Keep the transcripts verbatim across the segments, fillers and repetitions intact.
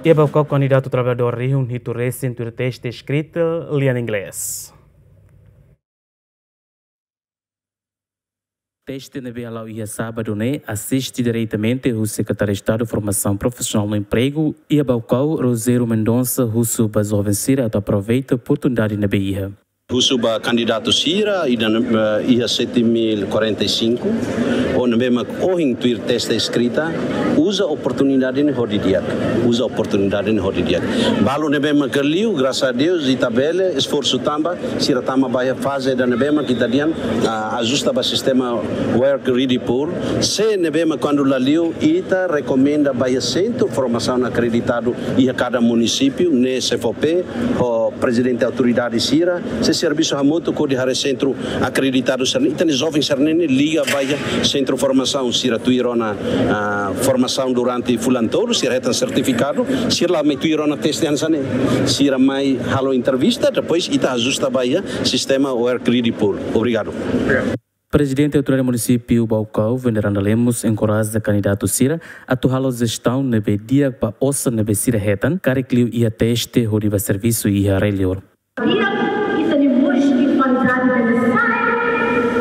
Iha Baucau, kandidatu traballadór rihun hitu resin tuir teste eskrita lian inglés. Teste ne'ebé hala'o iha sábadu ne'e asiste diretamente husi Sekretáriu Estadu Formasaun Profisionál no Empregu iha Baucau, Rogério Mendonça, husu ba joven sira atu aproveita oportunidade ne'ebé iha. Husu ba kandidatu sira ida, eh, iha sete mil quarenta e cinco, ou ne'ebé mak ohin tuir teste eskrita, uza oportunidade ne'e ho di'ak, uza oportunidade ne'e ho di'ak. Balu ne'ebé mak liu, graças a Deus, ita bele esforsu tanba, sira tama ba iha faze ida ne'ebé mak ita dehan, ah, ajusta ba sistema Work Ready Pool. Se ne'ebé mak kuandu la liu, ita rekomenda ba iha sentru formasaun akreditadu iha kada munisípiu, ne'e SEFOPE, ho prezidente autoridade sira, sei servisu hamutuk hodi haree sentru akreditadu sira-ne'e. Ita-nia joven sira-ne'e liga ba iha sentru formasaun, sira tuir ona, ah, formasaun durante fulan tolu, sira hetan sertifikadu, sira la mai tuir ona teste hanesan ne'e. Sira mai halo entrevista, depois ita ajusta ba iha sistema Work Ready Pool. Obrigadu. Prezidente Autoridade Munisípiu Baucau, Veneranda Lemos, enkoraja kandidatu sira atu halo jestaun ne'ebé di'ak ba osan ne'ebé sira hetan, karik liu iha teste hodi bá servisu iha rai-liur. Di'ak, ita-nia moris i kualidade bele sai,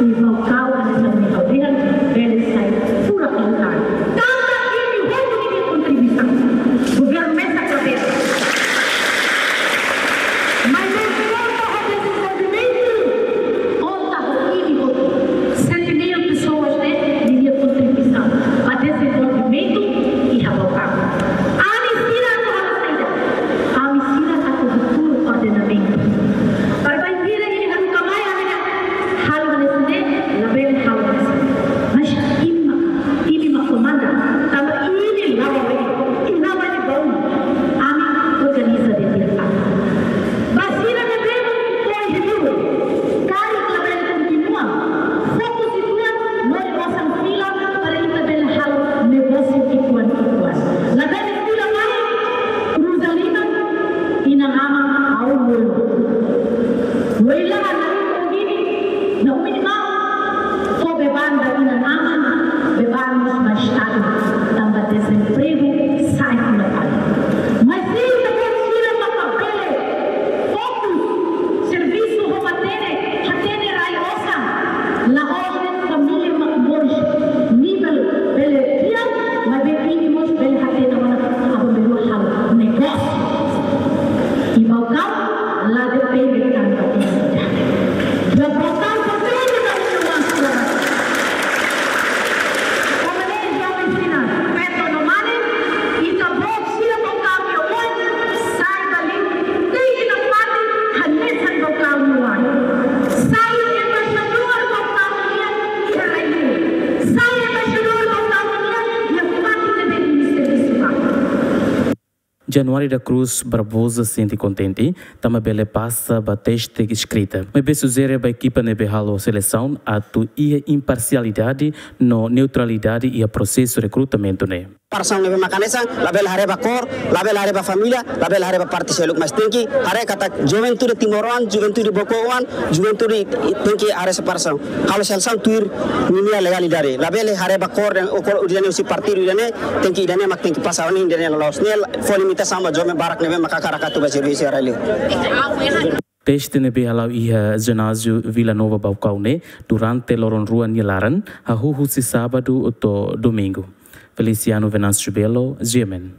i Baucau hanesan ne'e ha'u dehan, bele sai furak liután. Tanba imi hotu nia kontribuisaun. Governu mesak la bele. Maibé konta ho dezenvolvimentu, konta ho imi hotu. Sete mil pessoas ne'e, ninia kontribuisaun ba dezenvolvimentu iha Baucau. Ami sira atu halo saida? Ami sira atu hatuur ordenamentu. Para bainhira imi haruka mai ami dehan halo hanesan ne'e, labele halo hanesan ne'e. Mas imi mak, imi mak komanda, tanba imi la'o, imi la'o baun, ami organiza didi'ak. Ba sira ne'ebé mak foin hiburu, karik labele kontinua, fokus uitoan, lori osan fila para ita bele halo negósiu ki'ikoan-ki'ikoan. Labele fila mai, kruza liman, inan-aman ha'u mulu. Wei lahan na umi gini, na umi-nia maun, fó beban ba inan-aman, beban mós ba Estadu, tanba dezempregu sai fila fali. Mas se ita-boot sira maka bele fokus servisu ho matenek, hatene rai osan, la'ós de'it família mak moris nivel bele di'ak, maibé imi mós bele hatene ona aban-bainrua halo negósiu. I Baucau la depende tanba ida-idak. Baucau pertende ba nia oan sira. Tanba ne'e joven sira, feto no mane, ita-boot sira Baucau nia oan, sai ba li'ur, tenke nafatin hanesan Baucau nia oan. Sai embaixadór Baucau nian iha rai-liur. Sai embaixadór Baucau nian iha fatin ne'ebé imi servisu ba. Januário da Cruz Barbosa sente kontente tanba bele pasa ba teste eskrita. Maibé sujere ba ekipa ne'ebé halo selesaun atu iha imparsialidade no neutralidade iha prosesu rekrutamentu ne'e. Persona ne'ebé mak hanesan, labele haree ba kór, labele haree ba família, labele haree ba parte seluk, mas tenke haree katak juventude timoroan, juventude Baucau oan, juventude tenke haree separasaun. Halo selesaun tuir ninia legalidade. Labele haree ba kór dehan, o kór ida-ne'e husi partidu ida-ne'e, tenke ida-ne'e mak tenke pasa ona, ida-ne'e loloos. Ne'e fó limitasaun ba joven barak ne'ebé mak hakarak atu bá servisu iha rai-liur. Teste ne'ebé hala'o iha Jináziu Vila Nova Baucau ne'e durante loron rua nia laran, hahú husi sábadu to'o domingu. Feliciano Venâncio Belo, G M N.